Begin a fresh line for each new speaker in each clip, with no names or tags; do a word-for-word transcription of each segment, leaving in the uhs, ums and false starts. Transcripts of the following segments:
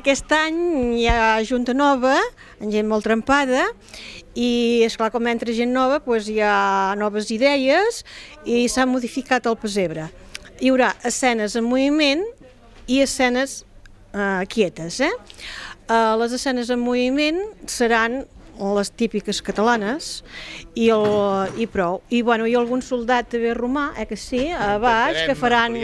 aquest any hi ha junta nova, gent molt trempada, i esclar, com entra gent nova, doncs hi ha noves idees i s'ha modificat el pessebre. Hi haurà escenes en moviment i escenes eh, quietes. Eh? Eh, les escenes en moviment seran les típiques catalanes i, el, i prou. I, bueno, i algun soldat també romà, eh, que sí, a baix, que faran...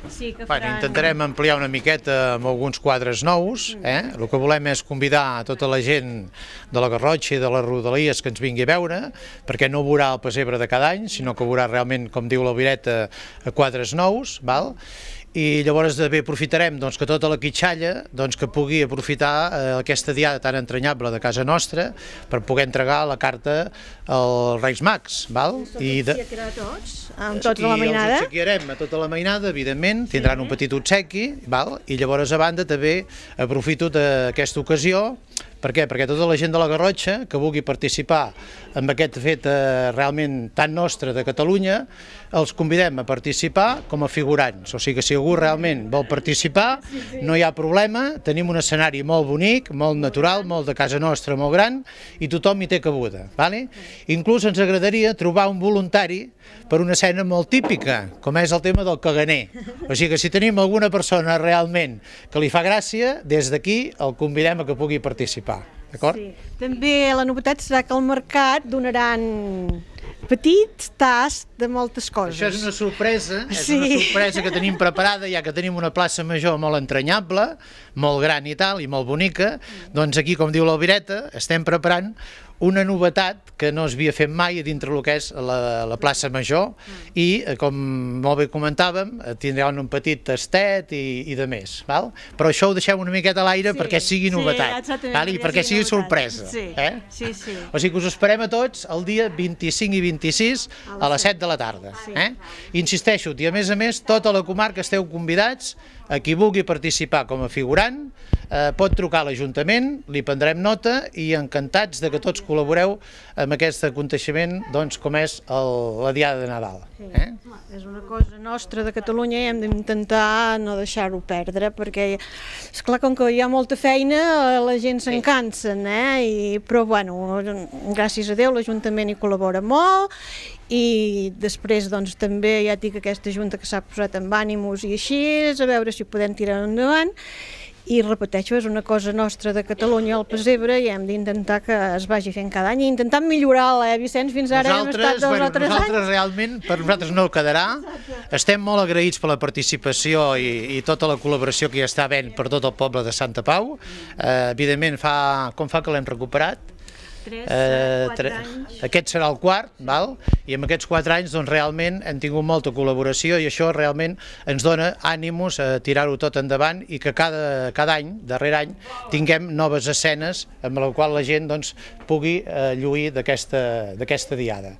Sí, que faran... Bueno, intentarem ampliar una miqueta amb alguns quadres nous. Eh? El que volem és convidar a tota la gent de la Garrotxa i de les Rodalies que ens vingui a veure, perquè no veurà el pessebre de cada any, sinó que veurà realment, com diu l'Albireta, quadres nous, val? I llavors també aprofitarem doncs, que tota la quitxalla doncs, que pugui aprofitar eh, aquesta diada tan entranyable de casa nostra per poder entregar la carta als Reis Mags. Val?
I de... tots, amb tota la mainada.
I els obsequiarem a tota la mainada, evidentment, tindran un petit obsequi, val? I llavors a banda també aprofito d'aquesta ocasió. Per què? Perquè tota la gent de la Garrotxa que vulgui participar en aquest fet eh, realment tan nostre de Catalunya, els convidem a participar com a figurants. O sigui que si algú realment vol participar, no hi ha problema, tenim un escenari molt bonic, molt natural, molt de casa nostra, molt gran, i tothom hi té cabuda. Vale? Inclús ens agradaria trobar un voluntari per una escena molt típica, com és el tema del caganer. O sigui que si tenim alguna persona realment que li fa gràcia, des d'aquí el convidem a que pugui participar. Sí.
També la novetat serà que al mercat donaran petits tasts de moltes coses.
Això és una sorpresa, és
sí.
una sorpresa que tenim preparada, ja que tenim una plaça major molt entranyable, molt gran i tal, i molt bonica, doncs aquí, com diu l'Albireta, estem preparant una novetat que no es havia fet mai dintre el que és la, la plaça major i, com molt bé comentàvem, tindran un petit tastet i, i de més. Val? Però això ho deixem una miqueta a l'aire sí, perquè sigui novetat sí, val? I perquè sigui novetat. Sorpresa.
Sí,
eh?
sí, sí.
O sigui que us esperem a tots el dia vint-i-cinc i vint-i-sis a les set de la tarda. Eh? Insisteixo, i a més a més, tota la comarca esteu convidats, a qui vulgui participar com a figurant, eh, pot trucar a l'Ajuntament, li prendrem nota i encantats de que tots col·laboreu amb aquest aconteixement doncs, com és el, la Diada de Nadal.
Sí. Eh? És una cosa nostra de Catalunya i hem d'intentar no deixar-ho perdre, perquè, esclar, com que hi ha molta feina, la gent se'n cansen, eh? I, però, bueno, gràcies a Déu, l'Ajuntament hi col·labora molt i després, doncs, també ja dic aquesta junta que s'ha posat amb ànims i així, a veure si ho podem tirar endavant. I repeteixo, és una cosa nostra de Catalunya, el pessebre, i hem d'intentar que es vagi fent cada any i intentant millorar-la, eh, Vicenç? Fins ara hem estat dos
bueno,
o tres
nosaltres
anys.
Realment, per nosaltres no quedarà. Estem molt agraïts per la participació i, i tota la col·laboració que hi està havent per tot el poble de Santa Pau. Eh, evidentment, fa, com fa que l'hem recuperat?
Tres, eh, quatre anys.
Aquest serà el quart, val? I en aquests quatre anys doncs, realment hem tingut molta col·laboració i això realment ens dona ànims a tirar-ho tot endavant i que cada, cada any, darrer any, tinguem noves escenes amb la qual la gent doncs, pugui eh, lluir d'aquesta diada.